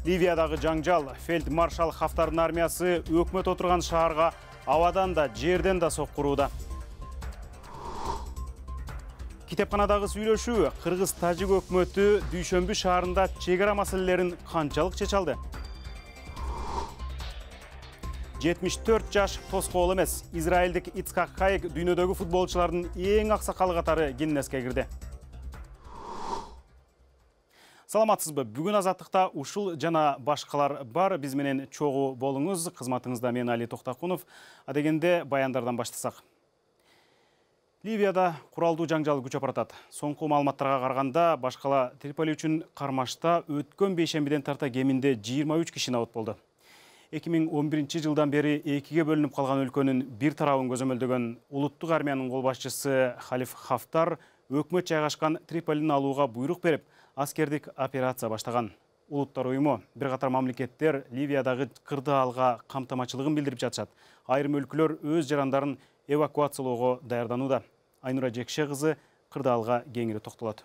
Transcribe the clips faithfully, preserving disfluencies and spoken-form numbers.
Ливиядагы жаңжал, фельдмаршал Хафтардын армиясы өкмөт отурган шаарга абадан да, жерден да соккурууда. Китепканадагы сүйлөшүү, Кыргыз-Тажик өкмөтү Дүйшөмбү шаарында чек ара маселелерин канчалык чече алды? жетимиш төрт жаш тоскоол эмес. Израилдик Ицхак Хайек дүйнөдөгү футболчулардын эң аксакалы катары Гиннеске кирди. Саламатсызбы? Бүгүн азаттыкта ушул жана башкалар бар. Биз менен чогуу болуңуз. Кызматыңызда мен Али Токтакунов. Адегенде баяндардан баштасак. Ливияда куралдуу жаңжал күчөп баратат. Соңку маалыматтарга караганда, башкала Триполи үчүн кармашта өткөн бейшембиден тарта кеминде жыйырма үч киши набыт болду. эки миң он биринчи жылдан бери экиге бөлүнүп калган өлкөнүн бир тарабын көзөмөлдөгөн улуттук армиянын кол башчысы Халиф Хафтар өкмөт жайгашкан Триполини алууга буйрук берип, аскердик операция баштаган. Улуттар уюму бир катар мамлекеттер Ливиядагы кырдаалга камтамачылыгын билдирип жатышат. Айрым өлкөлөр өз жарандарын эвакуациялоого даярданууда. Айнура Жекше кызы кырдаалга кеңири токтолот.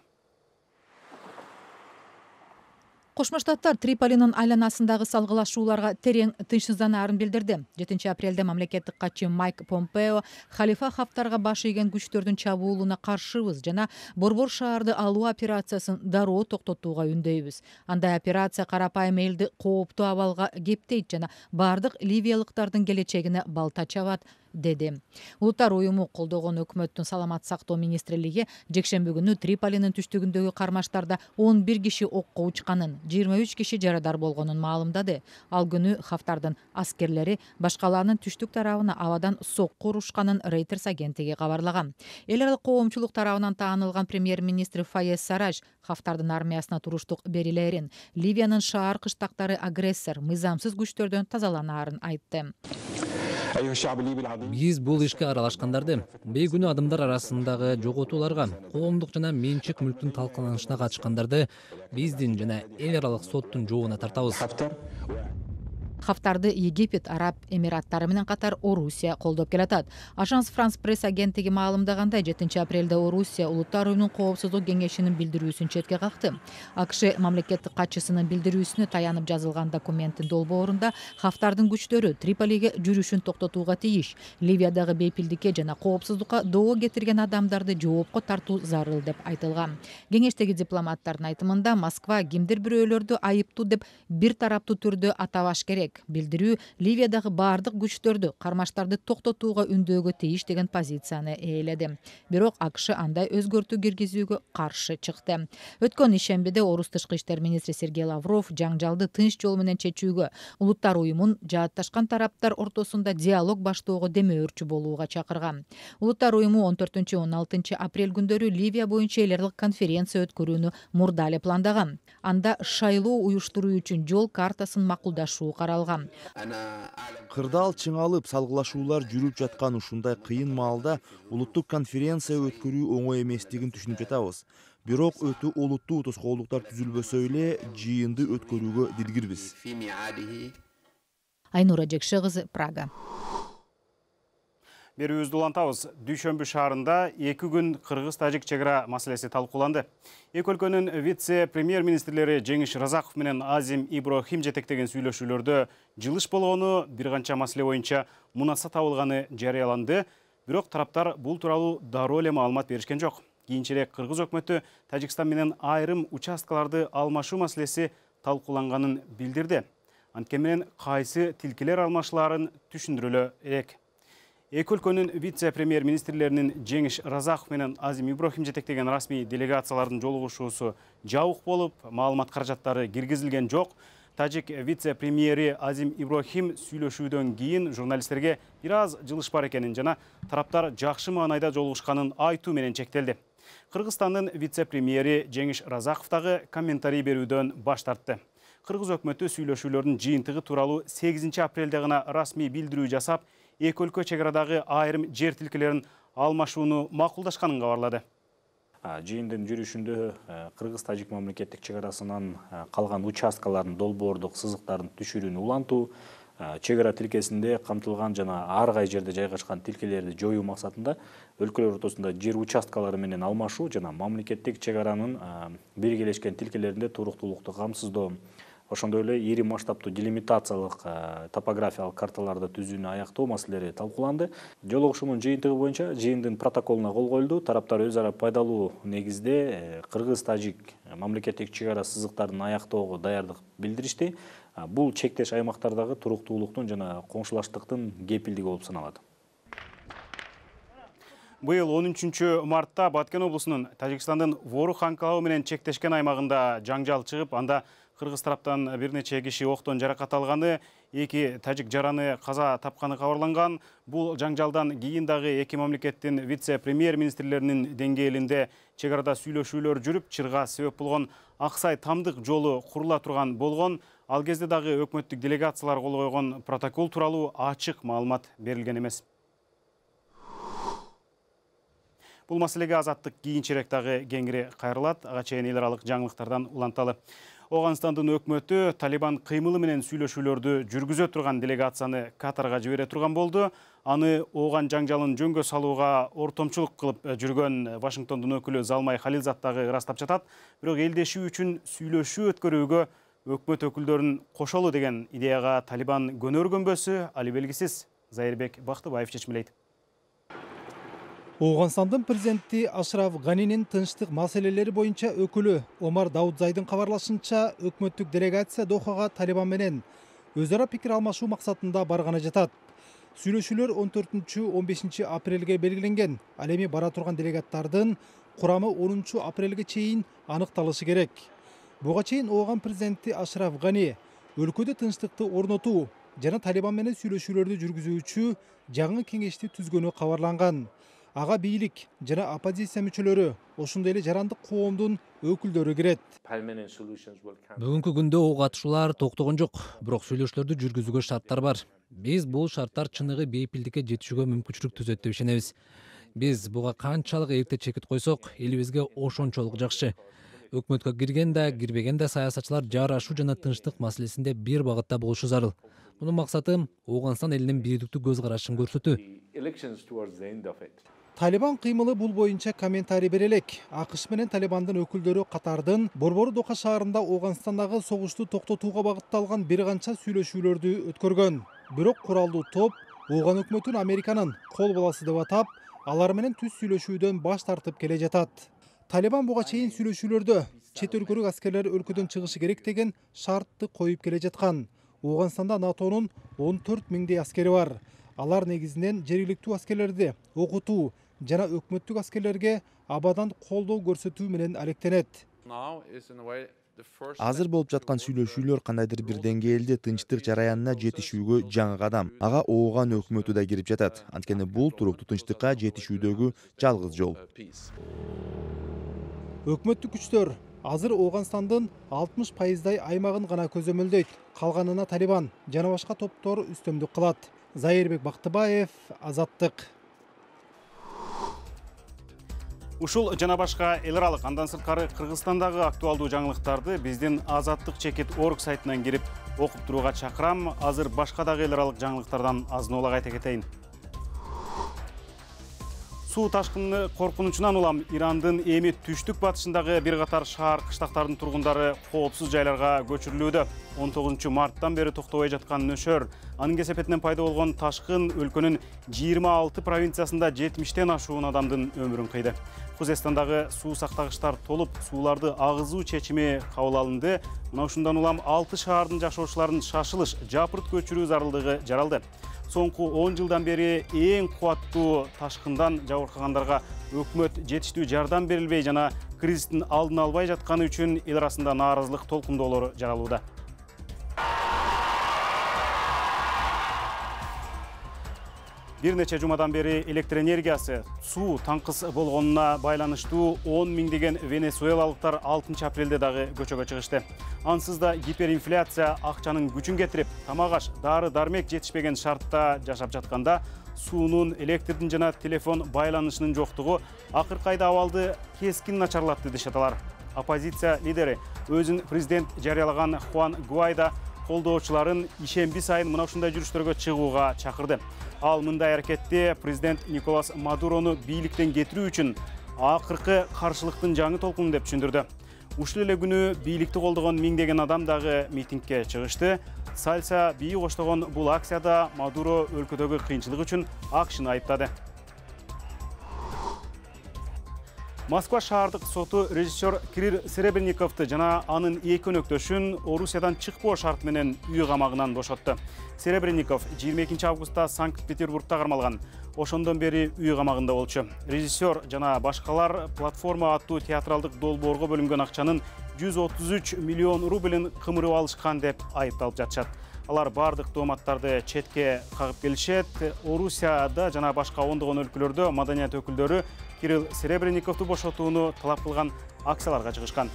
Кошмо Штаттар Триполинин айланасындагы салгылашууларга терең тынчсызданаарын билдирди. жетинчи апрелде мамлекеттик катчы Майк Помпео Халифа Хафтарга баш ийген күчтөрдүн чабуулуна каршыбыз жана Борбор шаарды алуу операциясын дароо токтотууга үндөйбүз. Андай операция карапайым элди кооптуу абалга кептейт жана бардык ливиялыктардын келечегине балта чабат, деди. Улуттар уюму колдогон өкмөттүн саламат сактоо министрлиги жекшемби күнү Триполинин түштүгүндөгү кармаштарда он бир киши окко учканын, жыйырма үч киши жарадар болгонун маалымдады. Ал күнү Хафтардын аскерлери башкаларынын түштүк тарабына абадан сокку урушканын Reuters агенттиги кабарлаган. Эл аралык коомчулук тарабынан таанылган премьер-министр Файез Сарраж Хафтардын армиясына туруштук берилерин, Ливиянын шаар кыштактары агрессор, мыйзамсыз күчтөрдөн тазаланаарын айтты. Биз бул ишке аралашкандарды бейгүнөө адамдар арасындагы жоготууларга, коомдук жана менчик мүлктүн талкаланышына катышкандарды биздин жана эл аралык соттун жообуна тартабыз. Хафтарды Египет, Араб Эмираттары менен катар Орусия колдоп келатат. Ажанс Франс пресс агенттиги маалымдагандай, жетинчи апрелде Орусия Улуттар уюмунун коопсуздук кеңешинин билдирүүсүн четке какты. АКШ мамлекеттик катчысынын билдирүүсүнө таянып жазылган документтин долбоорунда Хафтардын күчтөрү Триполиге жүрүшүн токтотууга тийиш, Ливиядагы бейпилдикке жана коопсуздукка доо кетирген адамдарды жоопко тартуу зарыл деп айтылган. Кеңештеги дипломаттардын айтымында, Москва кимдир бирөөлөрдү айыптуу деп бир тараптуу түрдө атабаш керек. Билдирүү Ливиядагы бардык күчтөрдү кармаштарды токтотууга үндөөгө тийиш деген позицияны ээледи. Бирок АКШ андай өзгөртүү киргизүүгө каршы чыкты. Өткөн ишембиде Орус тышкы иштер министри Сергей Лавров жаңжалды тынч жол менен чечүүгө, улуттар уюмун жаатташкан тараптар ортосунда диалог баштоого демөөрчү болууга чакырган. Улуттар уюму он төртүнчү он алтынчы апрель күндөрү Ливия боюнча эл аралык конференция өткөрүүнү мурда эле пландаган. Анда шайлоо уюштуруу үчүн жол картасын макулдашуу каралган. Кырдаал чыңалып, салгылашуулар жүрүп жаткан ушундай кыйын маалда улуттук конференция өткөрүү оңой эместигин түшүнүп жатабыз. Бирок өтө олуттуу тоскоолдуктар түзүлбөсө эле жыйынды өткөрүүгө дилгирбиз. Айнура Жекше кызы, Прага. Берүүбүздү улантабыз. Дүйшөмбү шаарында эки күн Кыргыз-Тажик чек ара маселеси талкууланды. Эки өлкөнүн вице-премьер-министрлери Жеңиш Разаков менен Азим Иброхим жетектеген сүйлөшүүлөрдө жылыш болгону, бир канча маселе боюнча мунаса табылганы жарыяланды. Бирок тараптар бул тууралуу дароо эле маалымат беришкен жок. Кийинчерээк Кыргыз өкмөтү Тажикстан менен айрым участкаларды алмашуу маселеси талкууланганын билдирди. Анткени менен кайсы тилкелер алмашыларын түшүндүрөлө элек. Эки өлкөнүн вице-премьер-министрлеринин Жеңиш Разаков менен Азим Иброхим жетектеген расмий делегациялардын жолугушуусу жабык болуп, маалымат каражаттары киргизилген жок. Тажик вице-премьери Азим Иброхим сүйлөшүүдөн кийин журналисттерге бир аз жылыш бар экенин жана тараптар жакшы маанайда жолугушканын айтуу менен чектелди. Кыргызстандын вице-премьери Жеңиш Разаков дагы комментарий берүүдөн баш тартты. Кыргыз өкмөтү сүйлөшүүлөрдүн жыйынтыгы тууралуу сегизинчи апрелде гана расмий билдирүү жасап, эки өлкө чек арадагы айрым жер тилкелерин алмашууну макулдашканын кабарлады. Жыйындын жүрүшүндө Кыргыз-Тажик мамлекеттик чек арасынан калган участкалардын долбоордук сызыктарын түшүрүүнү улантуу, чек ара тилкесинде камтылган жана ар кай жерде жайгашкан тилкелерди жоюу максатында өлкөлөр ортосунда жер участкалары менен алмашуу жана мамлекеттик чек аранын биргелешкен тилкелеринде туруктуулукту камсыздоо ошондой эле ири масштабтуу делимитациялык топографиялык карталарды түзүүнү аяктоо маселелери талкууланды. Жолугушуунун жыйынтыгы боюнча жыйындын протоколуна кол коюлду. Тараптар өз ара пайдалуу негизде кыргыз-тажик мамлекеттик чек ара сызыктарын аяктоого даярдык билдиришти. Бул чектеш аймактардагы туруктуулуктун жана коңшулаштыктын кепилдиги болуп саналат. Быйыл он үчүнчү мартта Баткен облусунун Тажикстандын Ворух анклавы менен чектешкен аймагында жаңжал чыгып, анда кыргыз тараптан бир нече киши октон жаракат алганы, эки тажик жараны каза тапканы кабарланган. Бул жаңжалдан кийин дагы эки мамлекеттин вице-премьер министрлеринин деңгээлинде чек арада сүйлөшүүлөр жүрүп, чырга себеп болгон Аксай Тамдык жолу курула турган болгон. Ал кезде дагы өкмөттүк делегациялар кол койгон протокол тууралуу ачык маалымат берилген эмес. Бул маселеге Азаттык кийинчерээк дагы кеңири кайрылат. Ага чейин эл аралык жаңылыктардан уланталы. Оганстандын өкмөтү Талибан кыймылы менен сүйлөшүүлөрдү жүргүзө турган делегацияны Катарга жибере турган болду. Аны ооган жаңжалын жөнгө салууга ортомчулук кылып жүргөн Вашингтондун өкүлү Залмай Халилзат дагы ырастап жатат. Бирок элдешүү үчүн сүйлөшүү өткөрүүгө өкмөт өкүлдөрүн кошолу деген идеяга Талибан көнөр-көнбөсү али белгисиз. Зайырбек Бактыбаев чечмелейт. Оганстандын президенти Ашраф Ганинин тынчтык маселелери боюнча өкүлү Омар Даудзайдын кабарлашынча, өкмөттүк делегация Дохага Талибан менен өз ара пикир алмашуу максатында барганы жатат. Сүйлөшүүлөр он төртүнчү он бешинчи апрелге белгиленген. Ал эми бара турган делегаттардын курамы онунчу апрелге чейин аныкталышы керек. Буга чейин Ооган президенти Ашраф Гани өлкөдө тынчтыкты орнотуу жана Талибан менен сүйлөшүүлөрдү жүргүзүүчү жаңы кеңешти түзгөнү кабарланган. Ага бийлик жана оппозиция мүчөлөрү, ошондой эле жарандык коомдун өкүлдөрү кирет. Бүгүнкү күндө ого катышуулар токтогон жок, бирок сүйлөшүүлөрдү жүргүзүүгө шарттар бар. Биз бул шарттар чыныгы бейпилдикке жетишүүгө мүмкүнчүлүк түзөт деп ишенебиз. Биз буга канчалык эрте чекит койсок, элибизге ошончолук жакшы. Өкмөткө кирген да, кирбеген да саясатчылар жарашуу жана тынчтык маселесинде бир багытта болушу зарыл. Мунун максаты Оганстан элинин бирдиктүү көз карашын көрсөтүү. Талибан кыймылы бул боюнча комментарий бере элек. АКШ менен Талибандын өкүлдөрү катардын борбору Доха шаарында Оганстандагы согушту токтотууга багытталган бир канча сүйлөшүүлөрдү өткөргөн. Бирок куралдуу топ Ооган өкмөтүн Американын кол баласы деп атап, алар менен түз сүйлөшүүдөн баш тартып келе жатат. Талибан буга чейин сүйлөшүүлөрдө чет өлкөлүк аскерлер өлкөдөн чыгышы керек деген шартты коюп келе жаткан. Оганстанда НАТОнун он төрт миңдей аскери бар. Алар негизинен жергиликтүү аскерлерди окутуу жана өкмөттүк аскерлерге абадан колдоо көрсөтүү менен алектенет. Азыр болуп жаткан сүйлөшүүлөр кандайдыр бир деңгээлде тынчтык жараянына жетишүүгө жаңы кадам. Ага Ооган өкмөтү да кирип жатат. Анткени бул туруктуу тынчтыкка жетишүүдөгү жалгыз жол. Өкмөттүк күчтөр азыр Оганстандын алтымыш пайыздай аймагын гана көзөмөлдөйт. Калганына Талибан жана башка топтор үстөмдүк кылат. Зайырбек Бактыбаев, Азаттык. Ушул жана башка эл аралык андан сырткары Кыргызстандагы актуалдуу жаңылыктарды биздин Азаттык чекит орг сайтынан кирип окуп турууга чакырам. Азыр башка дагы эл аралык жаңылыктардан азын-оолак айта кетейин. Суу ташкыны коркунучунан улам Ирандын эми түштүк батышындагы бир катар шаар кыштактардын тургундары коопсуз жайларга көчүрүлүүдө. он тогузунчу марттан бери токтобой жаткан нөшөр, анын кесепетинен пайда болгон ташкын өлкөнүн жыйырма алты провинциясында жетимиштен ашуун адамдын өмүрүн кыйды. Кузестандагы суу сактагычтар толуп, сууларды агызуу чечими кабыл алынды. Мына ушундан улам алты шаардын жашоочуларын шашылыш, жапырт көчүрүү зарылдыгы жаралды. Соңку он жылдан бери эң кубаттуу ташкындан жабыркагандарга өкмөт жетиштүү жардам берилбей жана кризистин алдын албай жатканы үчүн эл арасында нааразылык толкундоолору жаралууда. Бир нече жумадан бери электр энергиясы, суу таңкыс болгонуна байланыштуу он миңдеген венесуэлалыктар алтынчы апрелде дагы көчөгө чыгышты. Ансыз да гиперинфляция акчанын күчүн кетирип, тамак-аш, дары-дармек жетишпеген шартта жашап жатканда, суунун, электрдин жана телефон байланышынын жоктугу акыркы айда абалды кескин начарлатты дешет алар. Оппозиция лидери өзүн президент жарыялаган Хуан Гуайдо колдоочуларын ишемби сайын мына ушундай жүрүштөргө чыгууга чакырды. Ал мындай аракетте президент Николас Мадурону бийликтен кетирүү үчүн акыркы каршылыктын жаңы толкуну деп түшүндүрдү. Ушул эле күнү бийликти колдогон миңдеген адам дагы митингге чыгышты. Сальса бии коштогон бул акцияда Мадуро өлкөдөгү кыйынчылык үчүн АКШны айыптады. Москва шаардык соту режиссер Кирилл Серебренниковду жана анын эки өнөктөшүн Орусиядан чыкпоо шарты менен үй камагынан бошотту. Серебренников жыйырма экинчи августта Санкт-Петербургда кармалган. Ошондон бери үй камагында болчу. Режиссер жана башкалар платформа аттуу театралдык долбоорго бөлүнгөн акчанын жүз отуз үч миллион рублин кымырып алышкан деп айыпталып жатышат. Алар бардык тооматтарды четке кагып келишет. Орусияда жана башка ондогон өлкөлөрдө маданият өкүлдөрү Кирилл Серебренниковду бошотууну талап кылган акцияларга чыгышкан.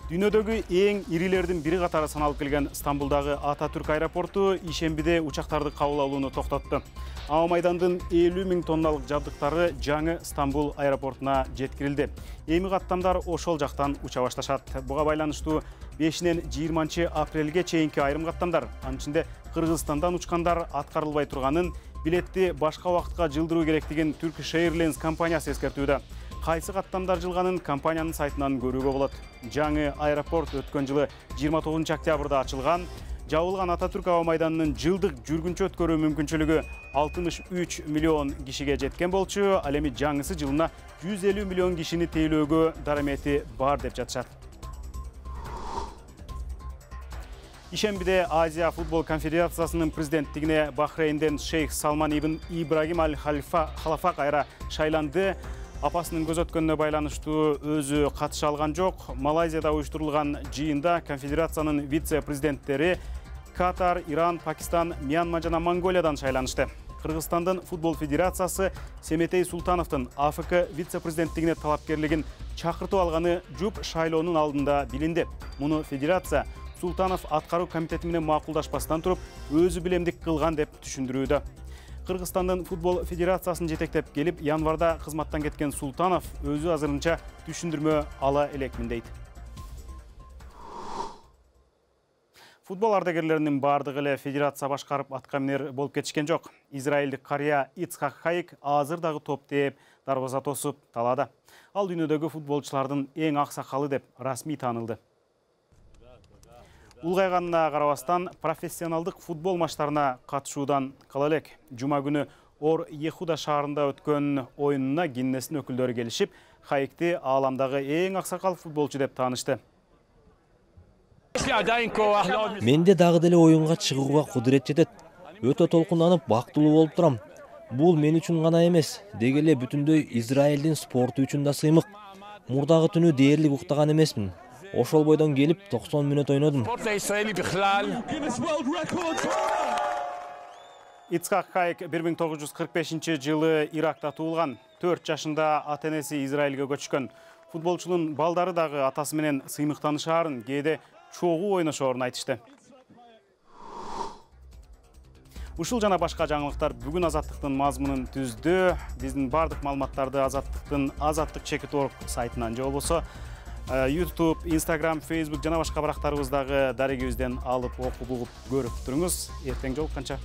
Дүйнөдөгү эң ирилердин бири катары саналып келген Стамбулдагы Ататүрк аэропорту ишембиде учактарды кабыл алууну токтотту. Ао майдандын элүү миң тонналык жабдыктары жаңы Стамбул аэропортуна жеткирилди. Эми каттамдар ошол жактан уча башташат. Буга байланыштуу бешинен жыйырманчы апрелге чейинки айрым каттамдар, анын ичинде Кыргызстандан учкандар аткарылбай турганын, билетти башка убакытка жылдыруу керектигин Turkish Airlines компаниясы эскертүүдө. Кайсы каттамдар жылганын компаниянын сайтынан көрүүгө болот. Жаңы аэропорт өткөн жылы жыйырма тогузунчу октябрда ачылган. Жабылган Ататүрк ао майданынын жылдык жүргүнчү өткөрүү мүмкүнчүлүгү алтымыш үч миллион кишиге жеткен болчу. Ал эми жаңысы жылына жүз элүү миллион кишини тейлөөгө дарамети бар деп жатышат. Ишембиде Азия футбол конфедерациясынын президенттигине Бахрейнден Шейх Салман ибн Ибрагим аль-Халафа кайра шайланды. Апасынын көз өткөнүнө байланыштуу өзү катыша алган жок. Малайзияда уюштурулган жыйында конфедерациянын вице-президенттери Катар, Иран, Пакистан, Мьянма жана Монголиядан шайланышты. Кыргызстандын футбол федерациясы Семетей Султановдун АФК вице-президенттигине талапкерлигин чакыртып алганы жуп шайлоонун алдында билинди. Муну федерация Султанов аткаруу комитети менен макулдашпастан туруп, өзү билемдик кылган деп түшүндүрүүдө. Кыргызстандын футбол федерациясын жетектеп келип, январда кызматтан кеткен Султанов өзү азырынча түшүндүрмө ала элекмин дейт. Футбол ардагерлеринин бардыгы эле федерация башкарып аткаминер болуп кетишкен жок. Израилдик карыя Ицхак Хайк азыр дагы топ тээп, дарбаза тосуп талаада. Ал дүйнөдөгү футболчулардын эң аксакалы деп расмий таанылды. Улгайганына карабастан профессионалдык футбол матчтарына катышуудан кала элек. Жума күнү Ор Ехуда шаарында өткөн оюнуна Гиннестин өкүлдөрү келишип, Хайкти ааламдагы эң аксакал футболчу деп таанышты. Менде дагы деле оюнга чыгууга кудурет жетет. Өтө толкунданып, бактылуу болуп турам. Бул мен үчүн гана эмес, деги эле бүтүндөй Израилдин спорту үчүн да сыймык. Мурдагы түнү дээрлик уктаган эмесмин. Ошол бойдон келип токсон мүнөт ойнодум. Ицхак Хайк бир миң тогуз жүз кырк бешинчи жылы Иракта туулган. төрт жашында ата-энеси Израилге көчкөн. Футболчунун балдары дагы атасы менен сыймыктанышаарын, кээде чогуу ойношоорун айтышты. Ушул жана башка жаңылыктар бүгүн Азаттыктын мазмунун түздү. Биздин бардык маалыматтарды Азаттыктын азаттык чекит орг сайтынан же болбосо YouTube, Instagram, Facebook жана башка барактарыбыздагы дарегибизден алып окуп угуп көрүп туруңуз. Эртең жолукканча.